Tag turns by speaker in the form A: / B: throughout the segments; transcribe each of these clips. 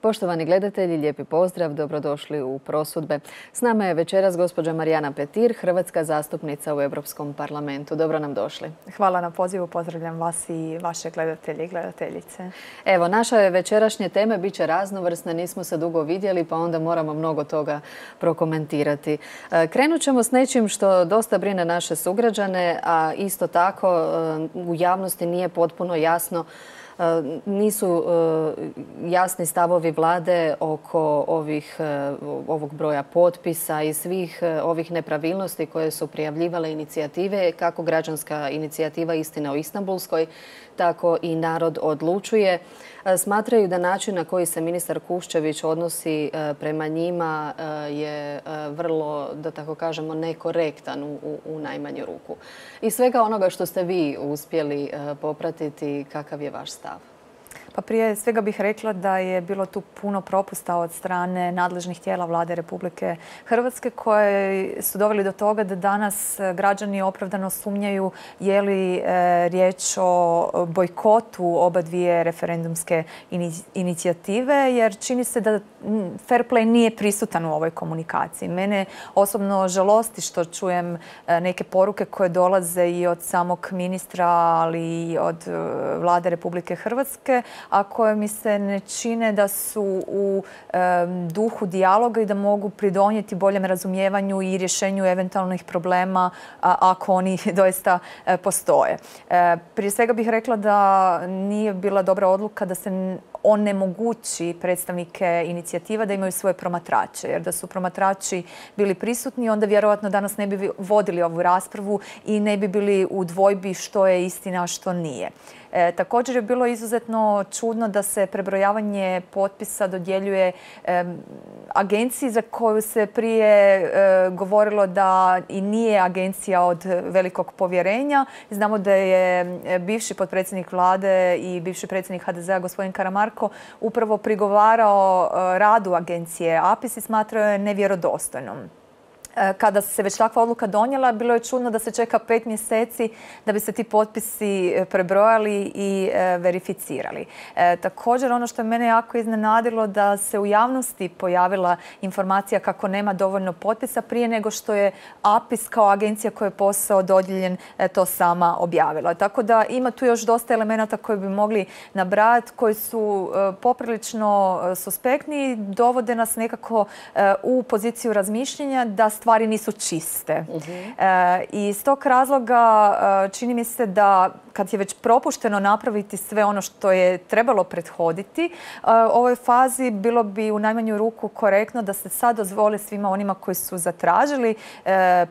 A: Poštovani gledatelji, lijepi pozdrav, dobrodošli u Prosudbe. S nama je večeras gospođa Marijana Petir, hrvatska zastupnica u Europskom parlamentu. Dobro nam došli.
B: Hvala na pozivu, pozdravljam vas i vaše gledatelje i gledateljice.
A: Evo, naša večerašnje teme bit će raznovrsne, nismo se dugo vidjeli pa onda moramo mnogo toga prokomentirati. Krenut ćemo s nečim što dosta brine naše sugrađane, a isto tako u javnosti nije potpuno jasno. Nisu jasni stavovi vlade oko ovog broja potpisa i svih ovih nepravilnosti koje su prijavljivale inicijative, kako građanska inicijativa Istina o Istanbulskoj, tako i Narod odlučuje. Smatraju da način na koji se ministar Kuščević odnosi prema njima je vrlo, da tako kažemo, nekorektan u najmanju ruku. Iz svega onoga što ste vi uspjeli popratiti, kakav je vaš stav?
B: Pa prije svega bih rekla da je bilo tu puno propusta od strane nadležnih tijela vlade Republike Hrvatske koje su doveli do toga da danas građani opravdano sumnjaju je li riječ o bojkotu oba dvije referendumske inicijative, jer čini se da fair play nije prisutan u ovoj komunikaciji. Mene osobno žalosti što čujem neke poruke koje dolaze i od samog ministra, ali i od vlade Republike Hrvatske, a koje mi se ne čine da su u duhu dijaloga i da mogu pridonijeti boljem razumijevanju i rješenju eventualnih problema ako oni doista postoje. Prije svega bih rekla da nije bila dobra odluka da se onemogući predstavnike inicijativa da imaju svoje promatrače. Jer da su promatrači bili prisutni, onda vjerojatno danas ne bi vodili ovu raspravu i ne bi bili u dvojbi što je istina, a što nije. Također je bilo izuzetno čudno da se prebrojavanje potpisa dodjeljuje agenciji za koju se prije govorilo da i nije agencija od velikog povjerenja. Znamo da je bivši potpredsjednik vlade i bivši predsjednik HDZ-a gospodin Karamarko upravo prigovarao radu agencije APIS i smatrao je nevjerodostojnom. Kada se već takva odluka donijela, bilo je čudno da se čeka 5 mjeseci da bi se ti potpisi prebrojali i verificirali. Također, ono što je mene jako iznenadilo da se u javnosti pojavila informacija kako nema dovoljno potpisa prije nego što je APIS kao agencija koja je posao dodijeljen to sama objavila. Tako da ima tu još dosta elemenata koje bi mogli nabrajati, koji su poprilično suspektni i dovode nas nekako u poziciju razmišljanja da stvari nisu čiste. I iz tog razloga čini mi se da kad je već propušteno napraviti sve ono što je trebalo prethoditi, u ovoj fazi bilo bi u najmanju ruku korektno da se sad dozvoli svima onima koji su zatražili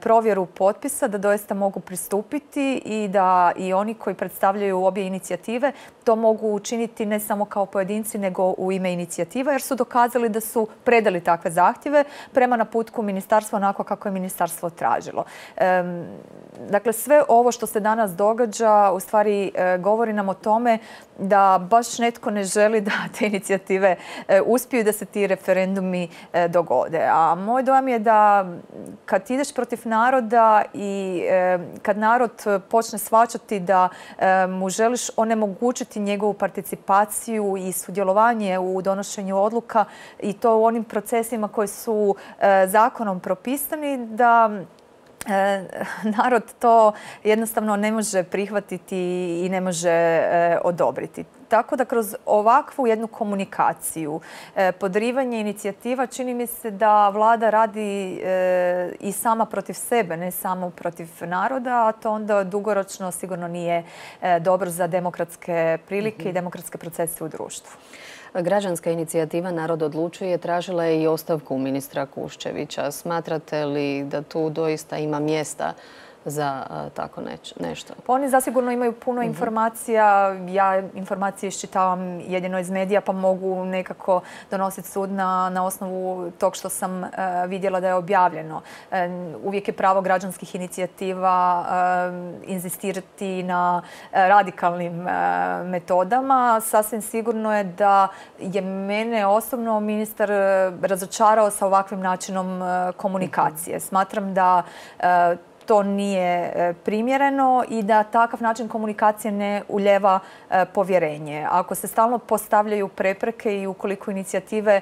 B: provjeru potpisa da doista mogu pristupiti i da i oni koji predstavljaju obje inicijative to mogu učiniti ne samo kao pojedinci nego u ime inicijativa, jer su dokazali da su predali takve zahtjeve prema naputku ministarstva onako kako je ministarstvo tražilo. Dakle, sve ovo što se danas događa u stvari govori nam o tome da baš netko ne želi da te inicijative uspiju i da se ti referendumi dogode. A moj dojam je da kad ideš protiv naroda i kad narod počne shvaćati da mu želiš onemogućiti njegovu participaciju i sudjelovanje u donošenju odluka i to u onim procesima koji su zakonom propisani, da narod to jednostavno ne može prihvatiti i ne može odobriti. Tako da kroz ovakvu jednu komunikaciju, podrivanje inicijativa, čini mi se da vlada radi i sama protiv sebe, ne samo protiv naroda, a to onda dugoročno sigurno nije dobro za demokratske prilike i demokratske procese u društvu.
A: Građanska inicijativa Narod odlučuje tražila je i ostavku ministra Kuščevića. Smatrate li da tu doista ima mjesta za tako nešto?
B: Pa oni zasigurno imaju puno informacija. Ja informacije iščitavam jedino iz medija pa mogu nekako donositi sud na osnovu tog što sam vidjela da je objavljeno. Uvijek je pravo građanskih inicijativa inzistirati na radikalnim metodama. Sasvim sigurno je da je mene osobno ministar razočarao sa ovakvim načinom komunikacije. Smatram da to nije primjereno i da takav način komunikacije ne ulijeva povjerenje. Ako se stalno postavljaju prepreke i ukoliko inicijative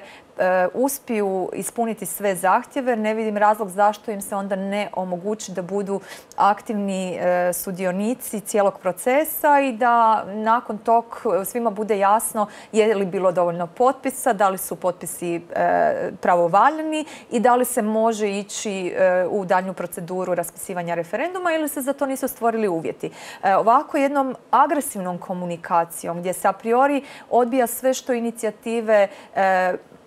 B: uspiju ispuniti sve zahtjeve, ne vidim razlog zašto im se onda ne omogući da budu aktivni sudionici cijelog procesa i da nakon tog svima bude jasno je li bilo dovoljno potpisa, da li su potpisi pravovaljani i da li se može ići u daljnju proceduru raspisivanja referenduma ili se za to nisu stvorili uvjeti. Ovako jednom agresivnom komunikacijom gdje se a priori odbija sve što inicijative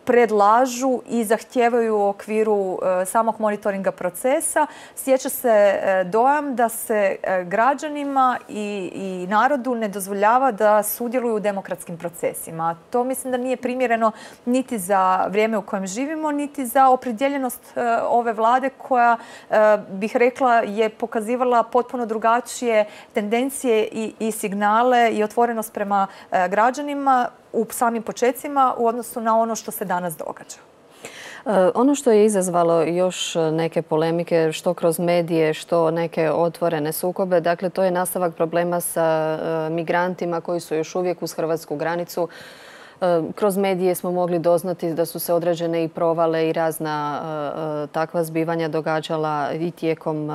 B: predlažu i zahtijevaju u okviru samog monitoringa procesa, stječe se dojam da se građanima i narodu ne dozvoljava da sudjeluju u demokratskim procesima. To mislim da nije primjereno niti za vrijeme u kojem živimo, niti za opredjeljenost ove vlade koja, bih rekla, je pokazivala potpuno drugačije tendencije i signale i otvorenost prema građanima u samim počecima u odnosu na ono što se danas događa.
A: Ono što je izazvalo još neke polemike, što kroz medije, što neke otvorene sukobe, dakle to je nastavak problema sa migrantima koji su još uvijek uz hrvatsku granicu. Kroz medije smo mogli doznati da su se određene i provale i razna takva zbivanja događala i tijekom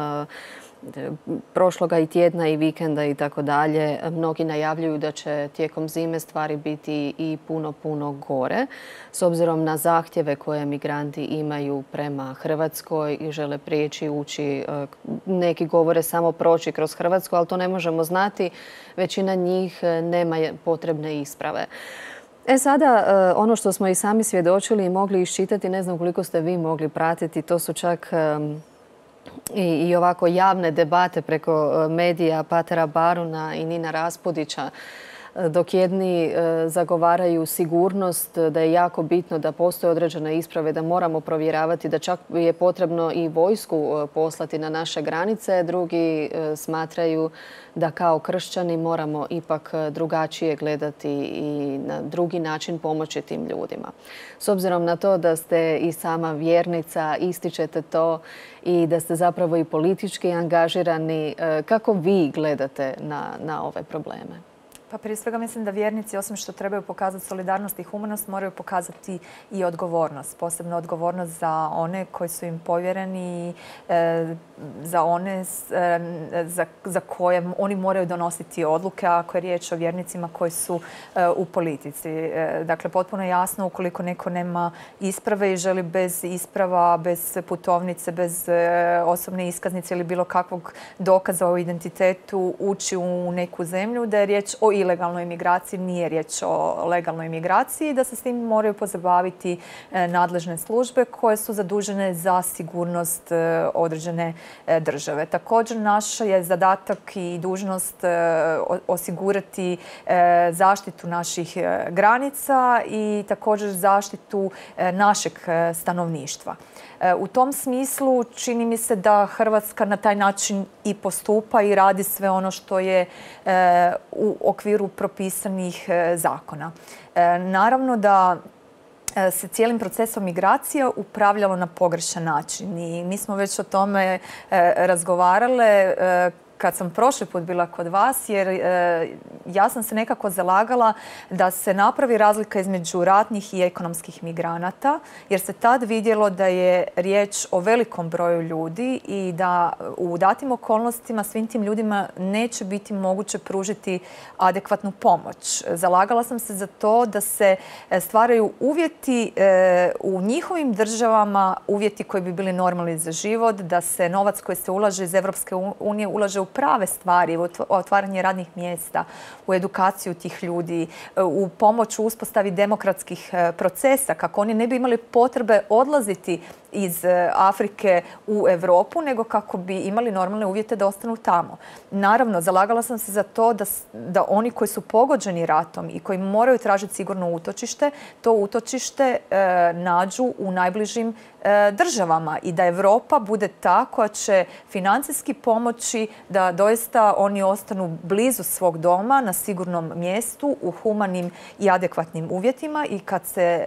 A: prošloga i tjedna i vikenda i tako dalje. Mnogi najavljuju da će tijekom zime stvari biti i puno gore. S obzirom na zahtjeve koje migranti imaju prema Hrvatskoj i žele prijeći, ući, neki govore samo proći kroz Hrvatsku, ali to ne možemo znati. Većina njih nema potrebne isprave. Sada, ono što smo i sami svjedočili i mogli iščitati, ne znam koliko ste vi mogli pratiti, to su čak i ovako javne debate preko medija Patera Baruna i Nina Raspudića, dok jedni zagovaraju sigurnost, da je jako bitno da postoje određene isprave, da moramo provjeravati, da čak je potrebno i vojsku poslati na naše granice. Drugi smatraju da kao kršćani moramo ipak drugačije gledati i na drugi način pomoći tim ljudima. S obzirom na to da ste i sama vjernica, ističete to i da ste zapravo i politički angažirani, kako vi gledate na ove probleme?
B: Pa prije svega mislim da vjernici, osim što trebaju pokazati solidarnost i humanost, moraju pokazati i odgovornost. Posebno odgovornost za one koji su im povjereni, za one za koje oni moraju donositi odluke, ako je riječ o vjernicima koji su u politici. Dakle, potpuno jasno, ukoliko neko nema isprave i želi bez isprava, bez putovnice, bez osobne iskaznice ili bilo kakvog dokaza o identitetu ući u neku zemlju, da je riječ o ilegalnoj imigraciji, nije riječ o legalnoj imigraciji, da se s tim moraju pozabaviti nadležne službe koje su zadužene za sigurnost određene države. Također, naš je zadatak i dužnost osigurati zaštitu naših granica i također zaštitu našeg stanovništva. U tom smislu čini mi se da Hrvatska na taj način i postupa i radi sve ono što je u okviru propisanih zakona. Naravno da se cijelim procesom migracija upravljalo na pogrešan način i mi smo već o tome razgovarale kad sam prošli put bila kod vas, jer ja sam se nekako zalagala da se napravi razlika između ratnih i ekonomskih migranata, jer se tad vidjelo da je riječ o velikom broju ljudi i da u datim okolnostima svim tim ljudima neće biti moguće pružiti adekvatnu pomoć. Zalagala sam se za to da se stvaraju uvjeti u njihovim državama, uvjeti koji bi bili normalni za život, da se novac koji se ulaže iz Europske unije ulaže u prave stvari, u otvaranje radnih mjesta, u edukaciju tih ljudi, u pomoć u uspostavi demokratskih procesa, kako oni ne bi imali potrebe odlaziti iz Afrike u Europu, nego kako bi imali normalne uvjete da ostanu tamo. Naravno, zalagala sam se za to da oni koji su pogođeni ratom i koji moraju tražiti sigurno utočište, to utočište nađu u najbližim državama i da Europa bude ta koja će financijski pomoći da doista oni ostanu blizu svog doma, na sigurnom mjestu, u humanim i adekvatnim uvjetima i kad se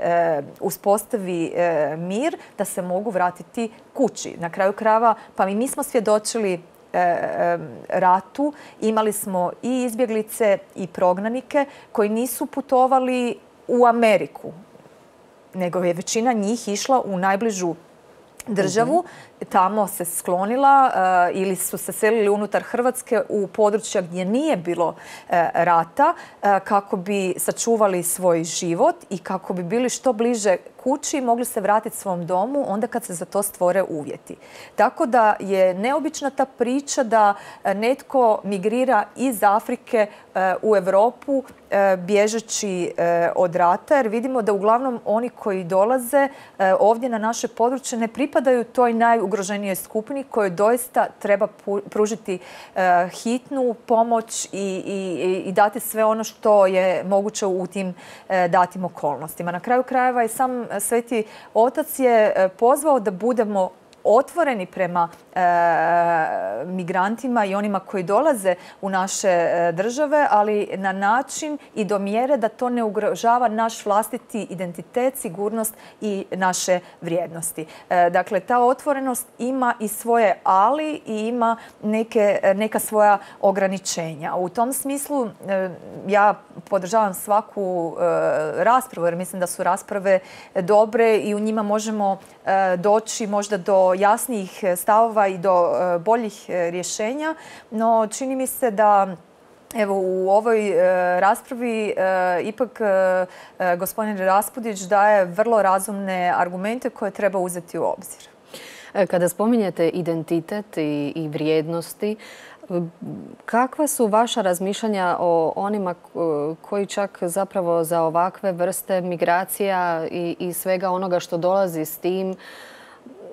B: uspostavi mir, da se mogu vratiti kući. Na kraju krajeva, pa mi smo svjedočili ratu, imali smo i izbjeglice i prognanike koji nisu putovali u Ameriku, nego je većina njih išla u najbližu državu, tamo se sklonila ili su se selili unutar Hrvatske u područja gdje nije bilo rata kako bi sačuvali svoj život i kako bi bili što bliže kući i mogli se vratiti svom domu onda kad se za to stvore uvjeti. Tako da je neobična ta priča da netko migrira iz Afrike u Europu bježeći od rata, jer vidimo da uglavnom oni koji dolaze ovdje na naše područje ne pripadaju toj najugroženijoj skupini kojoj doista treba pružiti hitnu pomoć i dati sve ono što je moguće u tim datim okolnostima. Na kraju krajeva i sam Sveti Otac je pozvao da budemo otvoreni prema migrantima i onima koji dolaze u naše države, ali na način i do mjere da to ne ugrožava naš vlastiti identitet, sigurnost i naše vrijednosti. Dakle, ta otvorenost ima i svoje ali i ima neka svoja ograničenja. U tom smislu ja podržavam svaku raspravu, jer mislim da su rasprave dobre i u njima možemo doći možda do jasnijih stavova i do boljih rješenja, no čini mi se da evo u ovoj raspravi ipak gospodin Raspudić daje vrlo razumne argumente koje treba uzeti u obzir.
A: Kada spominjete identitet i vrijednosti, kakva su vaša razmišljanja o onima koji čak zapravo za ovakve vrste migracija i svega onoga što dolazi s tim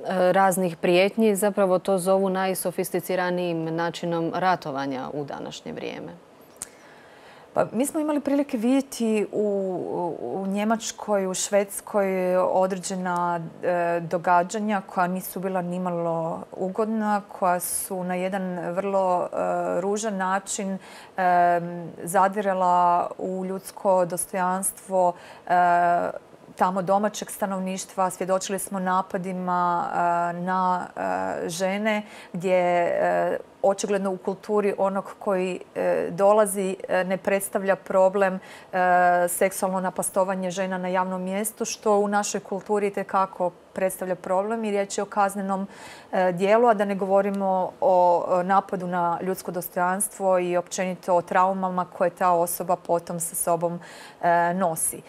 A: raznih prijetnji zapravo to zovu najsofisticiranijim načinom ratovanja u današnje vrijeme?
B: Pa, mi smo imali prilike vidjeti u Njemačkoj, u Švedskoj određena događanja koja nisu bila nimalo ugodna, koja su na jedan vrlo ružan način zadirala u ljudsko dostojanstvo tamo domaćeg stanovništva. Svjedočili smo napadima na žene gdje očigledno u kulturi onog koji dolazi ne predstavlja problem seksualno napastovanje žena na javnom mjestu, što u našoj kulturi itekako predstavlja problem i riječ je o kaznenom dijelu, a da ne govorimo o napadu na ljudsko dostojanstvo i općenito o traumama koje ta osoba potom sa sobom nosi.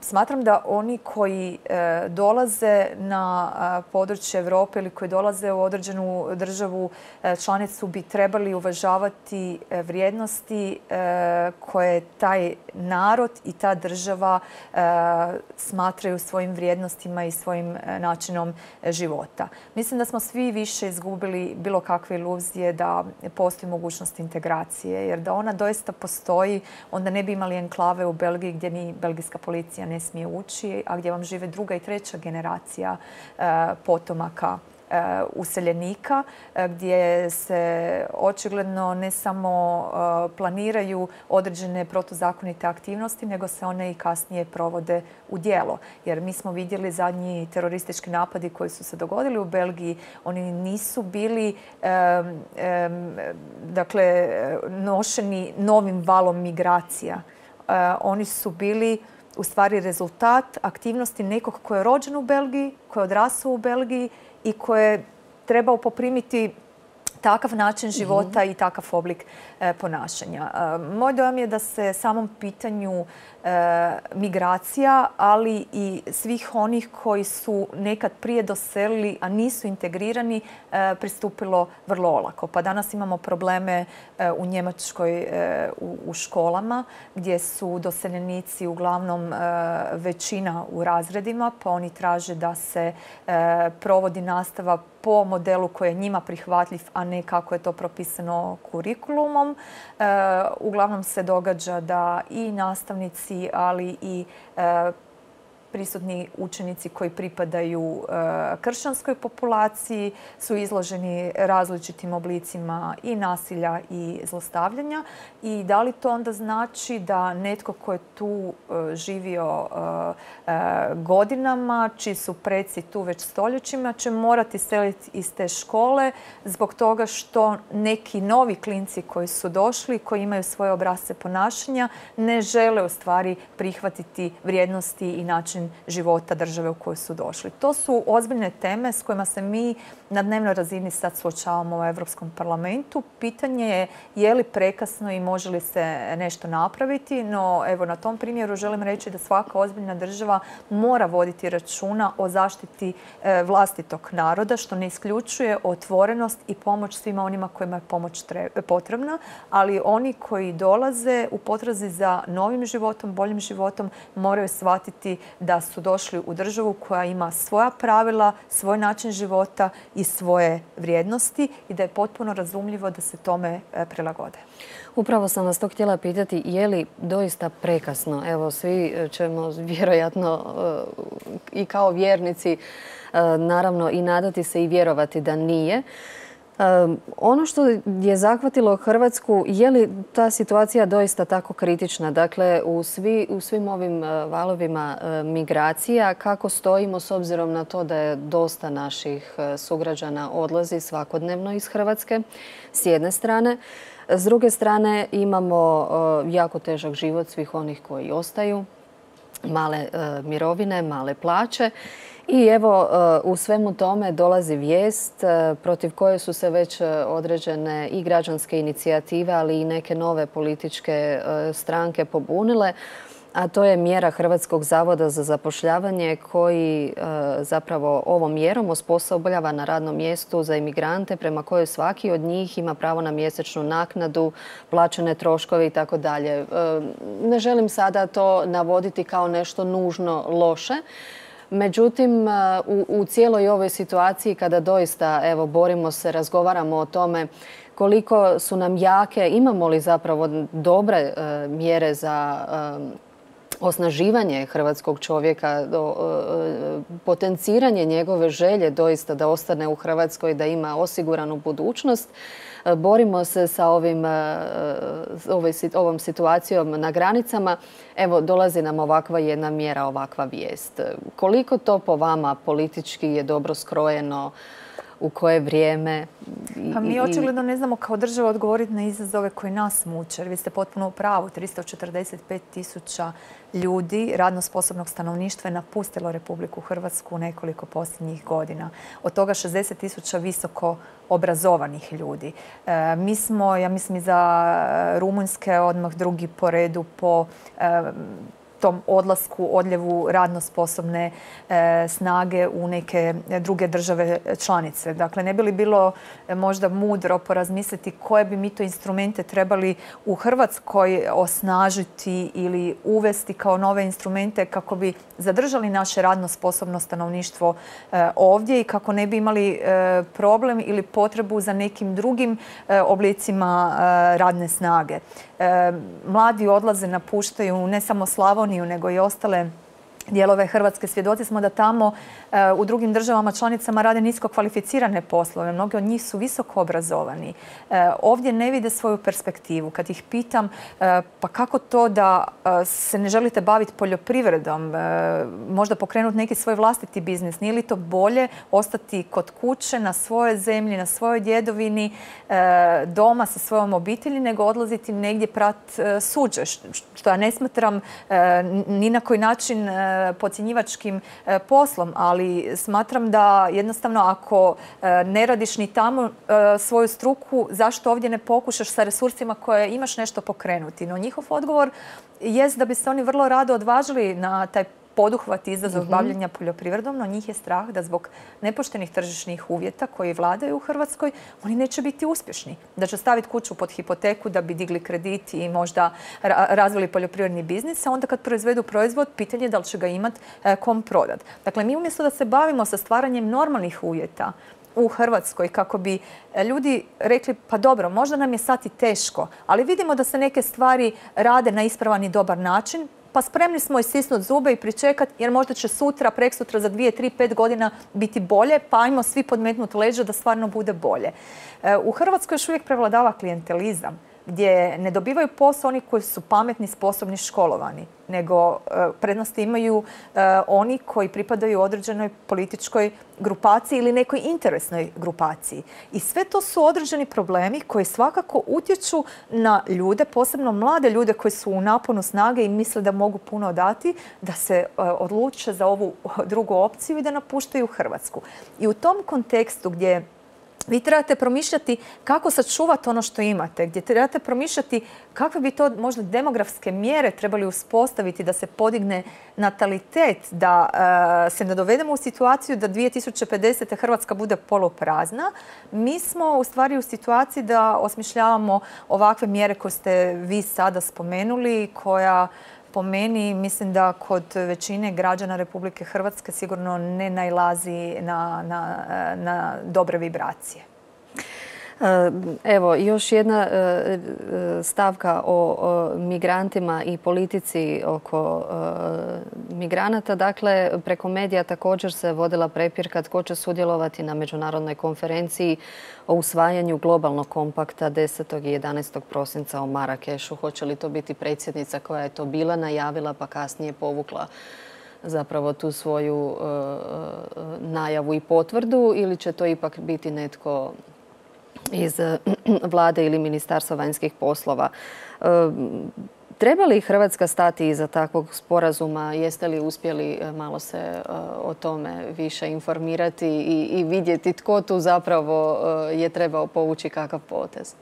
B: Smatram da oni koji dolaze na područje Europe ili koji dolaze u određenu državu članicu bi trebali uvažavati vrijednosti koje taj narod i ta država smatraju svojim vrijednostima i svojim načinom života. Mislim da smo svi više izgubili bilo kakve iluzije da postoji mogućnost integracije, jer da ona doista postoji, onda ne bi imali enklave u Belgiji gdje ni belgijska policija ne smije ući, a gdje vam žive druga i treća generacija potomaka useljenika, gdje se očigledno ne samo planiraju određene protuzakonite aktivnosti, nego se one i kasnije provode u djelo. Jer mi smo vidjeli zadnji teroristički napadi koji su se dogodili u Belgiji, oni nisu bili nošeni novim valom migracija. Oni su bili u stvari rezultat aktivnosti nekog ko je rođen u Belgiji, ko je odrasao u Belgiji i koje je trebao poprimiti takav način života i takav oblik ponašanja. Moj dojam je da se samom pitanju migracija, ali i svih onih koji su nekad prije doselili, a nisu integrirani, pristupilo vrlo olako. Pa danas imamo probleme u Njemačkoj u školama, gdje su doseljenici uglavnom većina u razredima, pa oni traže da se provodi nastava po modelu koji je njima prihvatljiv, a ne kako je to propisano kurikulumom. Uglavnom se događa da i nastavnici, ali i prisutni učenici koji pripadaju kršćanskoj populaciji, su izloženi različitim oblicima i nasilja i zlostavljanja. I da li to onda znači da netko ko je tu živio godinama, čiji su preci tu već stoljećima, će morati seliti iz te škole zbog toga što neki novi klinci koji su došli, koji imaju svoje obrasce ponašanja, ne žele u stvari prihvatiti vrijednosti i način života države u kojoj su došli. To su ozbiljne teme s kojima se mi na dnevnoj razini sad suočavamo u Europskom parlamentu. Pitanje je li prekasno i može li se nešto napraviti, no evo na tom primjeru želim reći da svaka ozbiljna država mora voditi računa o zaštiti vlastitog naroda, što ne isključuje otvorenost i pomoć svima onima kojima je pomoć potrebna, ali oni koji dolaze u potrazi za novim životom, boljim životom, moraju shvatiti da su došli u državu koja ima svoja pravila, svoj način života i svoje vrijednosti i da je potpuno razumljivo da se tome prilagode.
A: Upravo sam vas to htjela pitati, je li doista prekasno? Evo, svi ćemo vjerojatno i kao vjernici naravno i nadati se i vjerovati da nije. Ono što je zahvatilo Hrvatsku, je li ta situacija doista tako kritična? Dakle, u svim ovim valovima migracija, kako stojimo s obzirom na to da je dosta naših sugrađana odlazi svakodnevno iz Hrvatske, s jedne strane. S druge strane, imamo jako težak život svih onih koji ostaju, male mirovine, male plaće. I evo, u svemu tome dolazi vijest protiv koje su se već određene i građanske inicijative, ali i neke nove političke stranke pobunile, a to je mjera Hrvatskog zavoda za zapošljavanje koji zapravo ovom mjerom osposobljava na radnom mjestu za imigrante prema kojoj svaki od njih ima pravo na mjesečnu naknadu, plaćene troškove itd. Ne želim sada to navoditi kao nešto nužno loše. Međutim, u cijeloj ovoj situaciji kada doista evo, borimo se, razgovaramo o tome koliko su nam jake, imamo li zapravo dobre mjere za osnaživanje hrvatskog čovjeka, potenciranje njegove želje doista da ostane u Hrvatskoj, da ima osiguranu budućnost. Borimo se sa ovom situacijom na granicama. Evo, dolazi nam ovakva jedna mjera, ovakva vijest. Koliko to po vama politički je dobro skrojeno? U koje vrijeme?
B: Pa mi očigledno ne znamo kao država odgovoriti na izazove koji nas muče. Jer vi ste potpuno u pravu. 345.000 ljudi, radno sposobnog stanovništva, je napustilo Republiku Hrvatsku nekoliko posljednjih godina. Od toga 60.000 visoko obrazovanih ljudi. Mi smo, ja mislim, iza Rumunjske odmah drugi po redu po tom odlasku, odljevu radno sposobne snage u neke druge države članice. Dakle, ne bi li bilo možda mudro porazmisliti koje bi mi to instrumente trebali u Hrvatskoj osnažiti ili uvesti kao nove instrumente kako bi zadržali naše radno sposobno stanovništvo ovdje i kako ne bi imali problem ili potrebu za nekim drugim oblicima radne snage. Mladi odlaze, napuštaju ne samo Slavoniju, nego i ostale dijelove Hrvatske. Svjedoci smo da tamo u drugim državama članicama rade nisko kvalificirane poslove. Mnogi od njih su visoko obrazovani. Ovdje ne vide svoju perspektivu. Kad ih pitam pa kako to da se ne želite baviti poljoprivredom, možda pokrenuti neki svoj vlastiti biznis, nije li to bolje ostati kod kuće, na svojoj zemlji, na svojoj djedovini, doma sa svojom obitelji, nego odlaziti negdje prat suđe, što ja ne smatram ni na koji način podcjenjivačkim poslom, ali smatram da jednostavno ako ne radiš ni tamo svoju struku, zašto ovdje ne pokušaš sa resursima koje imaš nešto pokrenuti? No njihov odgovor jest da bi se oni vrlo rado odvažili na taj poduhvat izazov bavljenja poljoprivredom, no njih je strah da zbog nepoštenih tržišnih uvjeta koji vladaju u Hrvatskoj, oni neće biti uspješni. Da će staviti kuću pod hipoteku da bi digli kredit i možda razvili poljoprivredni biznis, a onda kad proizvedu proizvod, pitanje je da li će ga imati kom prodat. Dakle, mi umjesto da se bavimo sa stvaranjem normalnih uvjeta u Hrvatskoj kako bi ljudi rekli pa dobro, možda nam je sad i teško, ali vidimo da se neke stvari rade na ispravan i dobar način, pa spremni smo istisnuti zube i pričekati jer možda će sutra, preksutra, za 2, 3, 5 godina biti bolje, pa ajmo svi podmetnuti leđa da stvarno bude bolje. U Hrvatskoj još uvijek prevladava klijentelizam, gdje ne dobivaju posao oni koji su pametni, sposobni, školovani, nego prednosti imaju oni koji pripadaju određenoj političkoj grupaciji ili nekoj interesnoj grupaciji. I sve to su određeni problemi koji svakako utječu na ljude, posebno mlade ljude koji su u naponu snage i misle da mogu puno dati, da se odluče za ovu drugu opciju i da napuštaju Hrvatsku. I u tom kontekstu gdje vi trebate promišljati kako sačuvati ono što imate, gdje trebate promišljati kakve bi to možda demografske mjere trebali uspostaviti da se podigne natalitet, da se ne dovedemo u situaciju da 2050. Hrvatska bude poluprazna. Mi smo u stvari u situaciji da osmišljavamo ovakve mjere koje ste vi sada spomenuli, koja po meni mislim da kod većine građana Republike Hrvatske sigurno ne nailazi na dobre vibracije.
A: Evo, još jedna stavka o migrantima i politici oko migranata. Dakle, preko medija također se vodila prepirka tko će sudjelovati na međunarodnoj konferenciji o usvajanju globalnog kompakta 10. i 11. prosinca u Marakešu. Hoće li to biti predsjednica koja je to bila najavila pa kasnije povukla zapravo tu svoju najavu i potvrdu, ili će to ipak biti netko iz vlade ili Ministarstva vanjskih poslova? Treba li Hrvatska stati iza takvog sporazuma? Jeste li uspjeli malo se o tome više informirati i vidjeti tko tu zapravo je trebao povući kakav potez?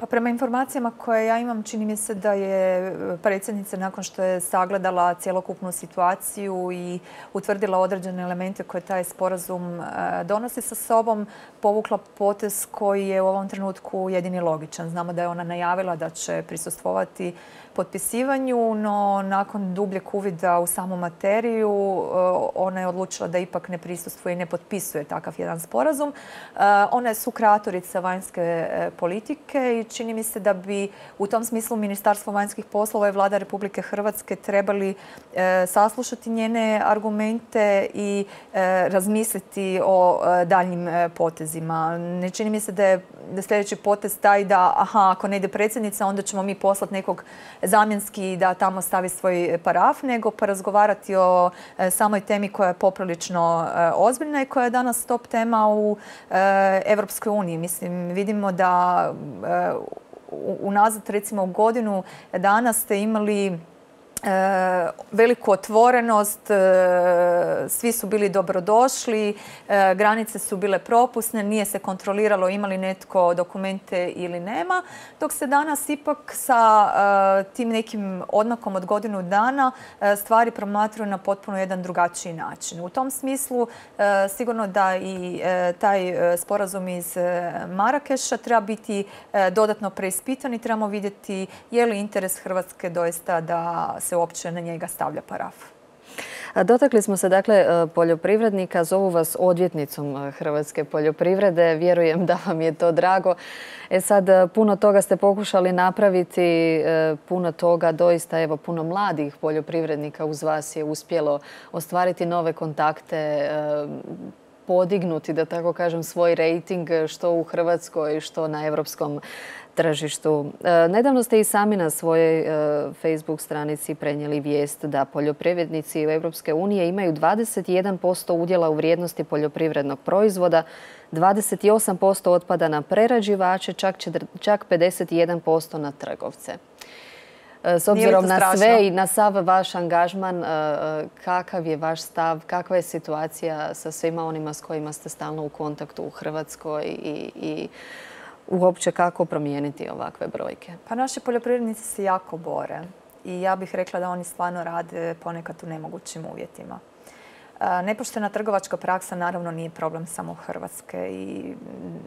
B: Pa prema informacijama koje ja imam, čini mi se da je predsjednica nakon što je sagledala cjelokupnu situaciju i utvrdila određene elemente koje taj sporazum donosi sa sobom, povukla potez koji je u ovom trenutku jedini logičan. Znamo da je ona najavila da će prisustvovati potpisivanju, no nakon dubljeg uvida u samu materiju ona je odlučila da ipak ne prisustvuje i ne potpisuje takav jedan sporazum. Ona je sukreatorica vanjske politike i čini mi se da bi u tom smislu Ministarstvo vanjskih poslova i Vlada Republike Hrvatske trebali saslušati njene argumente i razmisliti o daljnjim potezima. Ne čini mi se da je sljedeći potez taj da ako ne ide predsjednica onda ćemo mi poslati nekog zamjenski da tamo stavi svoj paraf, nego porazgovarati o samoj temi koja je poprilično ozbiljna i koja je danas top tema u Europskoj uniji. Mislim, vidimo da unazad recimo godinu dana ste imali veliku otvorenost, svi su bili dobrodošli, granice su bile propusne, nije se kontroliralo ima li netko dokumente ili nema, dok se danas ipak sa tim nekim odmakom od godinu dana stvari promatruju na potpuno jedan drugačiji način. U tom smislu sigurno da i taj sporazum iz Marakeša treba biti dodatno preispitan i trebamo vidjeti je li interes Hrvatske doista da se uopće na njega stavlja paraf.
A: Dotakli smo se dakle poljoprivrednika, zovu vas odvjetnicom hrvatske poljoprivrede. Vjerujem da vam je to drago. Sad puno toga ste pokušali napraviti, puno toga doista, evo puno mladih poljoprivrednika uz vas je uspjelo ostvariti nove kontakte, podignuti, da tako kažem, svoj rejting što u Hrvatskoj, što na europskom tržištu. Nedavno ste i sami na svojoj Facebook stranici prenijeli vijest da poljoprivrednici Europske unije imaju 21% udjela u vrijednosti poljoprivrednog proizvoda, 28% otpada na prerađivače, čak 51% na trgovce. S obzirom na sve i na sav vaš angažman, kakav je vaš stav, kakva je situacija sa svima onima s kojima ste stalno u kontaktu u Hrvatskoj i uopće kako promijeniti ovakve brojke?
B: Pa naši poljoprivrednici se jako bore i ja bih rekla da oni stvarno rade ponekad u nemogućim uvjetima. Nepoštena trgovačka praksa naravno nije problem samo Hrvatske i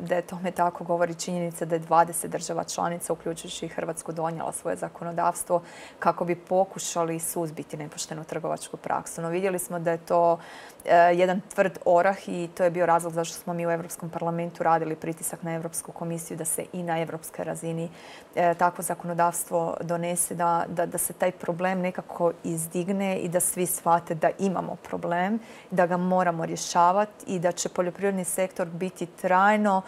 B: da je tome tako govori činjenica da je 20 država članica, uključujući i Hrvatsku, donijela svoje zakonodavstvo kako bi pokušali suzbiti nepoštenu trgovačku praksu. No vidjeli smo da je to jedan tvrd orah i to je bio razlog zašto smo mi u Europskom parlamentu radili pritisak na Europsku komisiju da se i na europskoj razini takvo zakonodavstvo donese, da se taj problem nekako izdigne i da svi shvate da imamo problem, da ga moramo rješavati i da će poljoprivredni sektor biti trajno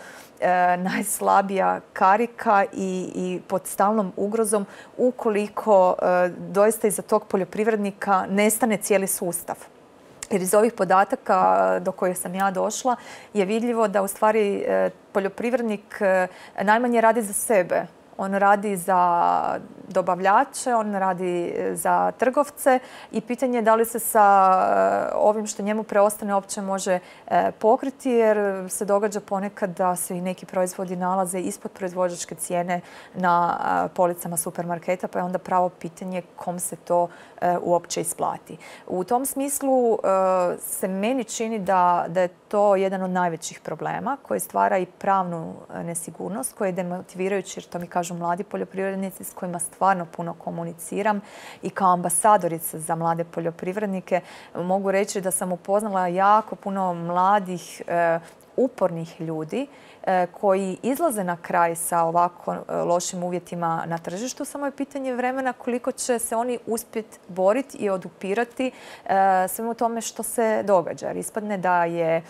B: najslabija karika i pod stalnom ugrozom ukoliko doista iza tog poljoprivrednika nestane cijeli sustav. Jer iz ovih podataka do kojih sam ja došla je vidljivo da u stvari poljoprivrednik najmanje radi za sebe. On radi za dobavljače, on radi za trgovce i pitanje je da li se sa ovim što njemu preostane uopće može pokriti jer se događa ponekad da se i neki proizvodi nalaze ispod proizvođačke cijene na policama supermarketa, pa je onda pravo pitanje kom se to uopće isplati. U tom smislu se meni čini da je to jedan od najvećih problema koji stvara i pravnu nesigurnost, koji je demotivirajući, jer to mi kažu mladi poljoprivrednici s kojima stvarno puno komuniciram i kao ambasadorica za mlade poljoprivrednike mogu reći da sam upoznala jako puno mladih upornih ljudi koji izlaze na kraj sa ovako lošim uvjetima na tržištu. Samo je pitanje vremena koliko će se oni uspjeti boriti i odupirati svemu tome što se događa. Jer ispadne da je